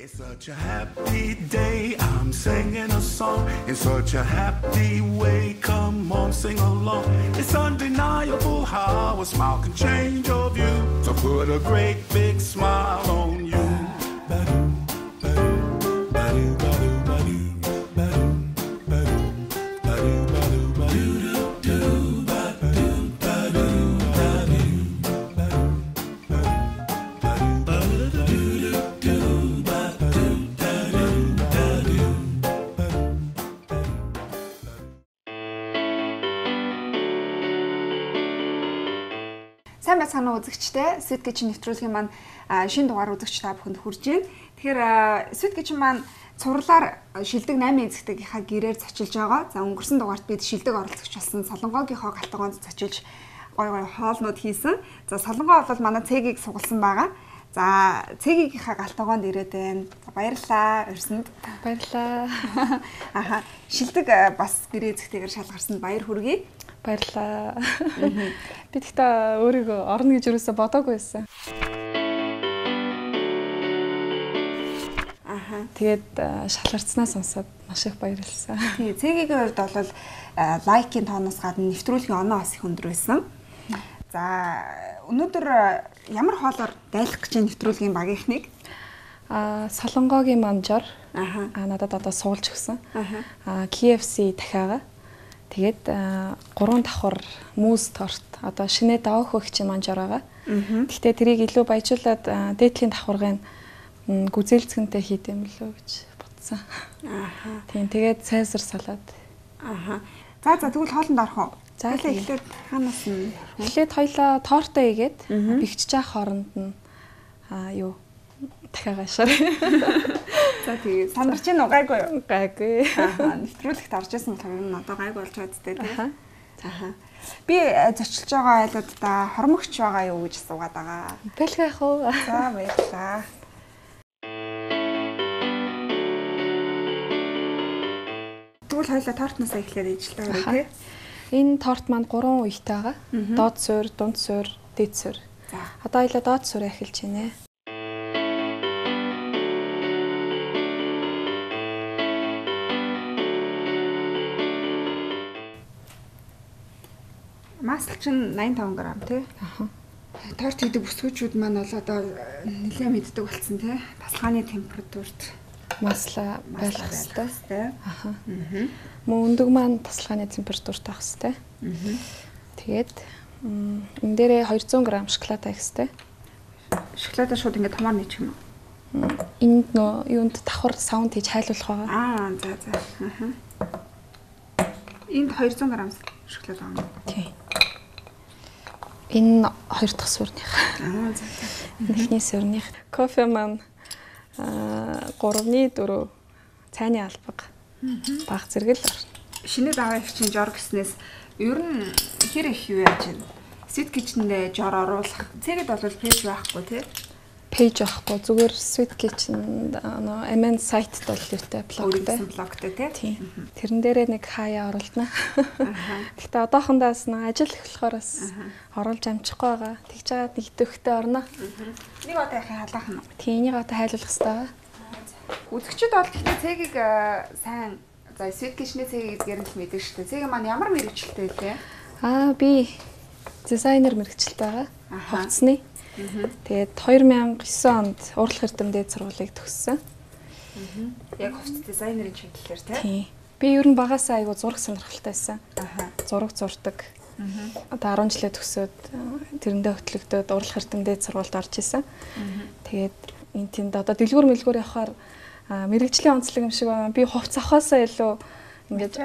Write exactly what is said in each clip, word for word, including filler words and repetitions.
It's such a happy day, I'm singing a song in such a happy way, come on sing along. It's undeniable how a smile can change your view, to put a great big smile on you. Сайн байцгаана уу үзэгчтэй. Sweet Kitchen нэвтрүүлгийн маань шинэ дугаар үзэгч та бүхэнд хүрж байна. Тэгэхээр Sweet Kitchen маань цувралаар шилдэг наймын эзэгтэйгийнхаа гэрээр зочилж байгаа. За өнгөрсөн дугаарт бид шилдэг оролцогч болсон Солонгогийнхоо галтгоонд зочилж гой гой хоолнууд хийсэн. За Солонгоо бол манай цэгийг сугалсан байгаа. За цэгийнхаа галтгоонд ирээд байна. Баярлалаа. Өрсөнд баярлалаа. Аха шилдэг бас гэрээ эзэгтэйгээр шалгарсанд баяр хүргэе. Баярлалаа. Би тэгтээ өөрийгөө орно гэж юусоо бодоогүй байсан. Аха. Тэгээд шалгарцнаа сонсоод маш их баярлалаа. Тий, цэгийн хувьд бол лайкийн тооноос гадна нэвтрүүлгийн оноо бас их өндөр байсан. За өнөөдөр ямар хоолоор дайлах гэж нэвтрүүлгийн багийнхныг аа Солонгогийн манжаар аха аа надад одоо суулж өгсөн. Аха. Аа K F C дахиагаа тэгээд гурван давхар мууз торт одоо шинэ даваа хөгчийн манжаар байгаа. Гэхдээ тэрийг илүү баяжуулаад дээдлийн давхаргын гүзээлцгэнтэй хийдэм билүү гэж бодсон. Аха. Тийм тэгээд цайзар салаад. Аха. За за тэгвэл хоолнд орох уу? За эхлээд ханаас нь эхлээд хоёлаа тортоо игээд бэгчж авах хооронд нь аа юу дахиагаа шаар. За тэгээ сандарч гин уу гайгүй юу? Гайгүй. Аа нэвтрүүлэгт орж исэн болохоор нь одоо гайгүй болж байгаа зү дээ. Аха. Би зочилж байгаа айлуудаа хормогч байгаа юу гэж асуугаад байгаа. Бэлгэх яах вэ? За баярлалаа. Тэгвэл хоёлаа тортноос эхлээд ижлээ өөрөө тий. Энэ торт маань гурван үетэй байгаа. Доод суурь, дунд суурь, дээд суурь. За. Одоо хоёлаа доод суурь эхэлж байна. Масл чинь восемьдесят и пять грамм тий. Аха. Торт хийдэг бүсгүүчүүд маань бол одоо нэлээд мэддэг болсон тий. Тасалгааны температурт Масла байлгах хэрэгтэй. тий. Аха. Аа. Мөн өндөг маань тасалгааны температурт авах хэрэгтэй. Аа. Тэгээд энэ дээрээ двести грамм шоколад авах хэрэгтэй. Шоколадаа шууд ингээд томоор нийчих юм уу? Энд нөө юунд давхар саунд хийж хайлуулах байгаа. Аа за за. Аа. Энд двести грамм шоколад байгаа юм. Тийм. Энэ хоёр дахь суурных. Аа за за. Эхний суурных. Кофе маань аа гурван дөрөв цайны албаг. Баг зэрэг л орно. Шинэ даваа их чинь жор гэснээс ер нь хэр их юу яаж байна? Sweet Kitchen-д жор оруулах. Цэгэд бол пэйж байхгүй тий. Пэйж байхгүй зүгээр Sweet Kitchen нөө Amen сайт бол юутай блогтай. Блогтай тий. Тийм. Тэрэн дээрээ нэг хаяа оруулна. Гэхдээ одоохондоос нэг ажил их болохоор бас оруулж амжихгүй байгаа. Тэгж байгаа нэг төвхтэй орно. Нэг одоо яхаа халаах нь. Тийм энийг одоо хайлуулах хэрэгтэй байгаа. Үзэгчд бол гэхдээ цэгийг сайн за Sweet Kitchen-ийн цэгийг эдгээр нь л мэддэг шүү дээ. Цэг маань ямар мэргэжилтэй вэ? Аа би дизайнер мэргэжилтэй байгаа. Хувцсны. Тэгээд две тысячи девять онд урлах эрдэмтэд сургуулийг төгссөн. Яг хувцс дизайнерын чиглэлээр тий. Би ер нь багасаа айгу зураг сонирхолтой байсан. Аха. Зураг зурдаг. Одоо десять жилээ төгсөөд тэрэндээ хөтлөгдөөд урлах эрдэмтэд сургуульд орж исэн. Тэгээд энэ тэнд одоо дэлгүүр мэлгүүр явахаар мэрэгжлийн онцлог юм шиг байна. Би хувцс авахаасаа илүү ингээд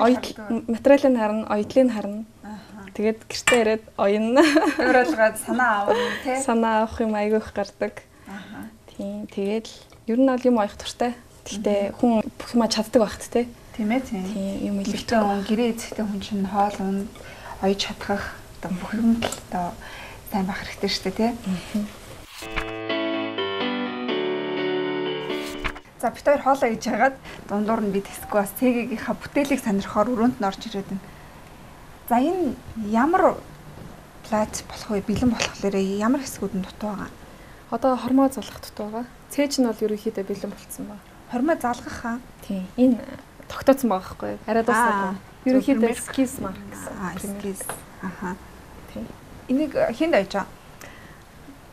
материалыг харна, оёдлыг харна. Тэгээд гэртээ ирээд оёно. Өөрөлгөөд санаа авна тий. Санаа авах юм айгүй их гардаг. Аха. Тийм тэгээд ер нь бол юм оёх туртай. Гэхдээ хүн бүх юма чаддаг багт тий. Тийм ээ тийм. Тийм юм илэртэй хүн гэрээ эзэгтэй хүн чинь хоол унд оёж чадах одоо бүх юм л одоо сайн байх хэрэгтэй шүү дээ тий. За бид хоёр хоолоо хийж хагаад дундуур нь би тэсгүй бас цэгийнхаа бүтээлийг сонирхоор өрөөнд нь орж ирээд байна. За энэ ямар плат болох вэ? Бэлэн болохоор ямар хэсгүүд нь дутуу байгаа? Одоо хормоо залгах дут байгаа. Цээж нь бол ерөнхийдөө бэлэн болцсон байна. Хормоо залгах хаа? Тийм. Энэ тогтооцсон байгаа байхгүй юу? Арай дуусаагүй. Ерөнхийдөө skis mark гэсэн. Аа, skis. Аха. Тийм. Энийг хэнд ойж байгаа?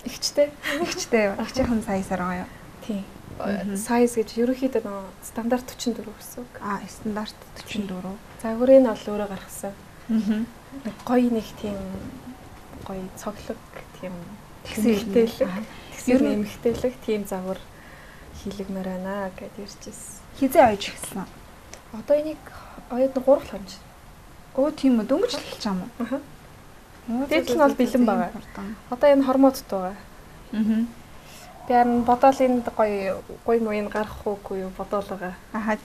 Игчтэй. Игчтэй. Игчийнхэн саясаар байгаа юу? Тийм. Size гэж ерөнхийдөө нөө стандарт forty-four гэсэн үг. Аа, стандарт forty-four. Загварын нь бол өөрөө гаргасан. Аа. Гоё нэг тийм гоё цоглог тийм тэгсэлтэй. Ер нь эмхтэлэг тийм загвар хийлэгмээр байна гэд ирчихсэн. Хизээ ойж эхэлсэн. Одоо энийг ойд нь three хонж. Өө тийм үү, дөнгөж эхэлж байгаа юм уу? Аа. Дээд нь бол бэлэн байгаа. Одоо энэ хормоот байгаа. Аа. Би харин бодоол энд гоё гоё мууийг гаргах уугүй юу бодоол байгаа. Аха.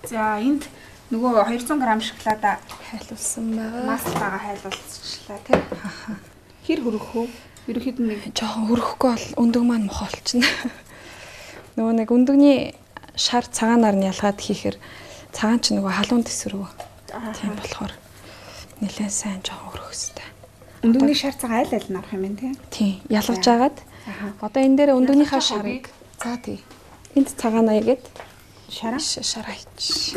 За энд нөгөө two hundred грамм шоколада хайлуулсан байгаа. Маслтайгаа хайлуулчихлаа тий. Аха. Хэр хөрөх вэ? Ерөнхийдөө нэг жоохон хөрөхгүй бол өндөг маань мохолчихно. Нөгөө нэг өндөгний шар цагаанаар нь ялгаад хийхээр цагаан ч нөгөө халуун тэсрүү. Тийм болохоор нэлээд сайн жоохон хөрөх хэрэгтэй. Өндөгний шар цагаан айл айл нь арах юм байна тий. Тийм, ялгаж агаад. Одоо энэ дээр өндөгнийхаа шарыг за тий. Энд цагаан аягээд шараа шараа хийч.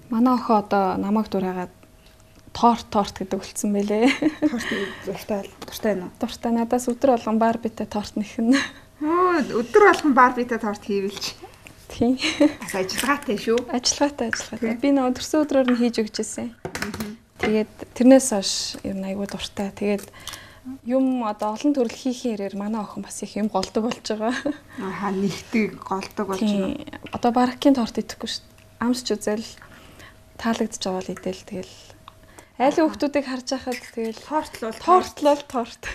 Манай охин одоо намайг дураагаад торт торт гэдэг үлдсэн байлээ. Торт дуртай дуртай байна уу? Дуртай надаас өдөр болгон барбитай торт нэхнэ. Оо өдөр болгон барбитай торт хийвэлч. Тийм. Бас ажиллагаатай шүү. Ажиллагаатай ажиллагаатай. Би нөө төрсөн өдрөөр нь хийж өгчээсэн. Тэгээд тэрнээс хойш ер нь айгүй дуртай. Тэгээд юм одоо олон төрөл хийхин ирээр манай охин бас их юм голдог болж байгаа. Аха нэгдэг голдог болж байна. Одоо баракийн торт идэхгүй шүү. Амсч үзэл таалагдж байгаа л идэл тэгэл айлын хүмүүсийг харж байхад тэгэл тортлол тортлол торт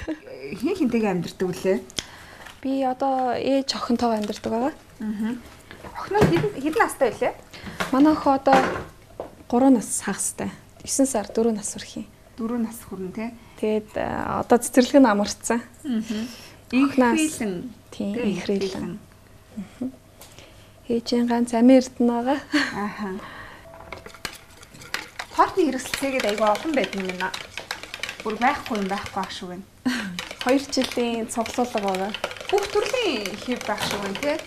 хин хинтэйгээ амьдэрдэг үлээ. Би одоо ээж охинтойгоо амьдэрдэг байгаа. Аа. Охин нь хэдэн настай вэ? Манай охин одоо three нас хагастай. nine сар four нас хүрэх юм. four нас хүрнэ тий. Тэгээд одоо цэцэрлэг нь амарцсан. Аа. Их хилэн. Тийм их хилэн. Ээжийн ганц амин эрдэнэ байгаа. Ааха. Тортны хэрэгсэлцээгээд айгүй олон байдаг юм байна. Бүр байхгүй юм байхгүй ах шиг байна. two жилийн цуглуулга байгаа. Бүх төрлийн хэв байх шиг байна тий.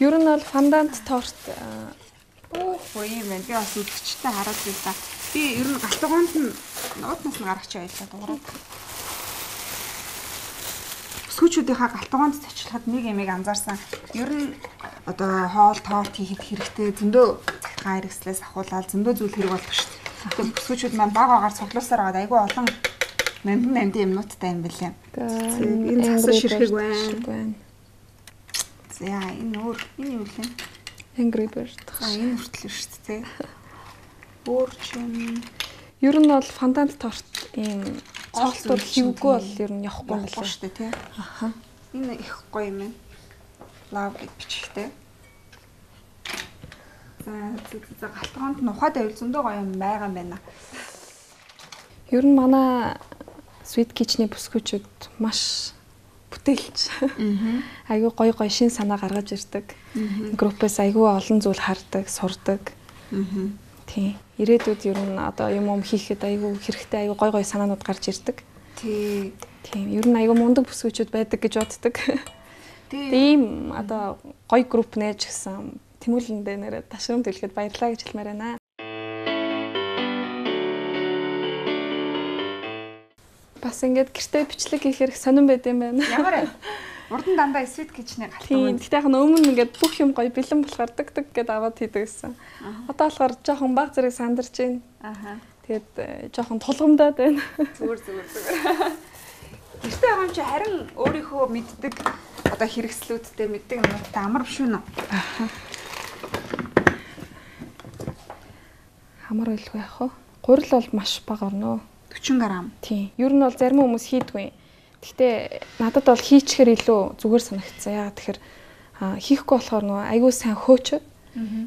Ер нь бол фондант торт оо юм байна. Би бас үзэгчтэй хараад байлаа. Би ер нь галтгоонд нь нуутнаас нь гаргач байлаа дуурай. Бүсгүүчүүдийнхаа галтгоонд цочлоход нэг ямиг анзаарсан. Ер нь одоо хоол торт хийхэд хэрэгтэй зөндөө цагтаа хэрэгслээс ахуулаад зөндөө зүйл хэрэг болдог шүү дээ. Тэгээд бүсгүүчүүд маань баг агаар цуглуулсаар аваад айгүй олон намд намд юмнуудтай юм билээ. Энэ засаж ширхэг байна. За энэ өөр энэ юу вэ? Angry Bird. А энэ хүртэл шүү дээ. Өөр чинь ер нь бол фондант торт ийм цогцлол хөвгүй бол ер нь явахгүй болоо шүү дээ тий. Аха. Энэ их гоё юм байна. Love гэж бичигтэй. За за галтгоонд нь ухаад байвал зөндөө гоё юм байгаа юм байна. Ер нь манай Sweet Kitchen-ийн бүсгүүчүүд маш бүтээлч. Айгүй гоё гоё шин санаа гаргаж ирдэг. Группээс айгүй олон зүйл хардаг, сурдаг. Тийм. Ирээдүйд ер нь одоо юм юм хийхэд айгүй хэрэгтэй айгүй гоё гоё санаанууд гарч ирдэг. Тий. Тийм. Ер нь айгүй мундаг бүсгүүчүүд байдаг гэж боддог. Тийм одоо гоё групп нээж гисэн тэмүүлэндээ нэрээ ташрам төлөхөд баярлалаа гэж хэлмээр байна. Бас ингээд гэртээ бичлэг хийхээр сонирн байд юм байна. Ямар урд нь дандаа Sweet Kitchen-ийн галтгоо. Тийм. Тэгтээ яг өмнө ингээд бүх юм гоё бэлэн болохоор дэг дэг гэдээ аваад хийдэг гэсэн. Одоо болохоор жоохон баг зэрэг сандарч байна. Аха. Тэгээд жоохон тулгамдаад байна. Зүгээр зүгээр зүгээр. Гэртээ байгаа юм чи харин өөрийнхөө мэддэг одоо хэрэгслүүдтэй мэддэг юмтай амар биш үү? Аха. Хамар байлгүй яах вэ? Гурил бол маш бага орно. forty грамм. Тийм. Ер нь бол зарим хүмүүс хийдгүй. Гэхдээ надад бол хийчихэр илүү зүгээр санагдсан. Яагаад тэгэхээр хийхгүй болохоор нөө айгүй сайн хөөчөд.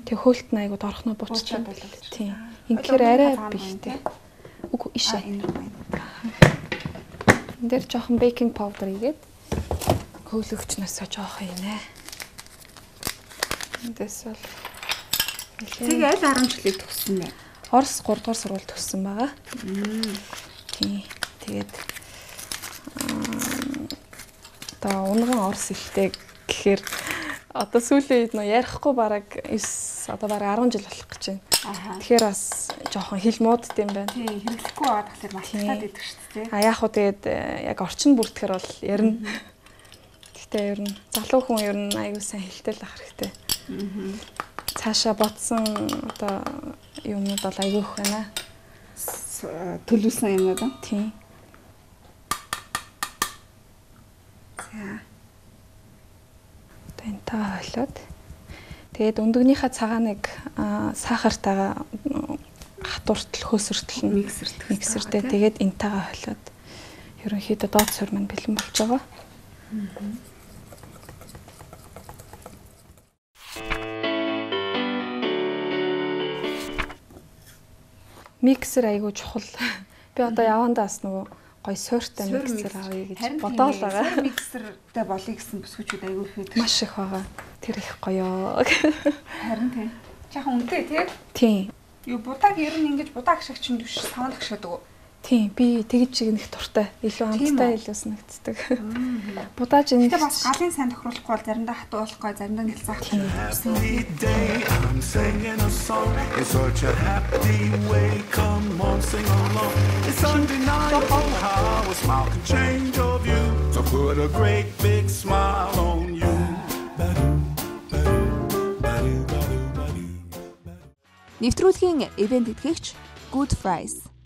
Тэгээ хөөлт нь айгүй дорхноо буучдаг. Тийм. Инхээр арай бихтэй. Үгүй ишээ. Энэ дээр жоохон baking powder игээд Хөөлөгчнөөсөө жоох юм ээ. Эндээс бол Тэг аль арван жилийн төгссөн бэ? Орос гурав дугаар сургууль төгссөн байгаа. Тийм. Тэгээд одоо унган орос хэлтэй гэхээр одоо сүүлийн үед нөө ярихгүй бараг девять одоо бараг арван жил болох гэж байна. Тэгэхээр бас жоохон хэл муудд юм байна. Тийм, хэрэглэхгүй байгаа тэгэхээр малтаад идэх шүү дээ. А яг хуу тэгээд яг орчин бүртгэхэр бол ярина. Гэхдээ ер нь залуу хүн ер нь аягүй сайн хэлтэй л ах хэрэгтэй. Цаашаа ботсон одоо юмнууд бол аягүй их байна. Төлөвсөн юмнууд аа. Тийм. За. Энтаа хойлоод тэгээд өндөгнийхээ цагааныг сахартайгаа хатууртал хөөсөртөл нь миксерт миксертэй тэгээд энтаагаа хойлоод ерөнхийдөө доод суурь маань бэлэн болж байгаа. Миксер айгуу чухал. Би одоо явандаас нөгөө гой суурьтай миксер авъя гэж бодоод байгаа. Миксертэй болъё гэсэн бүсгүүчүүд айгүй их байдаг. Маш их байгаа. Тэр их гоёо. Харин тийм. Жаахан үнэтэй тий? Тийм. Юу будааг ер нь ингэж будааг шиг чинь биш савнд гшаадаг уу? Тийм. Би тэгж чигнэх дуртай. Илүү амттай илүү санагддаг. Будаж энэ тэгээ бас галын сайн тохируулахгүй бол заримдаа хатуу болохгүй, заримдаа нэлцаах юм. I'm singing a song in such a happy way. Come on, sing along. It's undeniable how a smile can change your view. So put a great big smile on you. Нэвтрүүлгийн ивент тэтгэгч Good Fries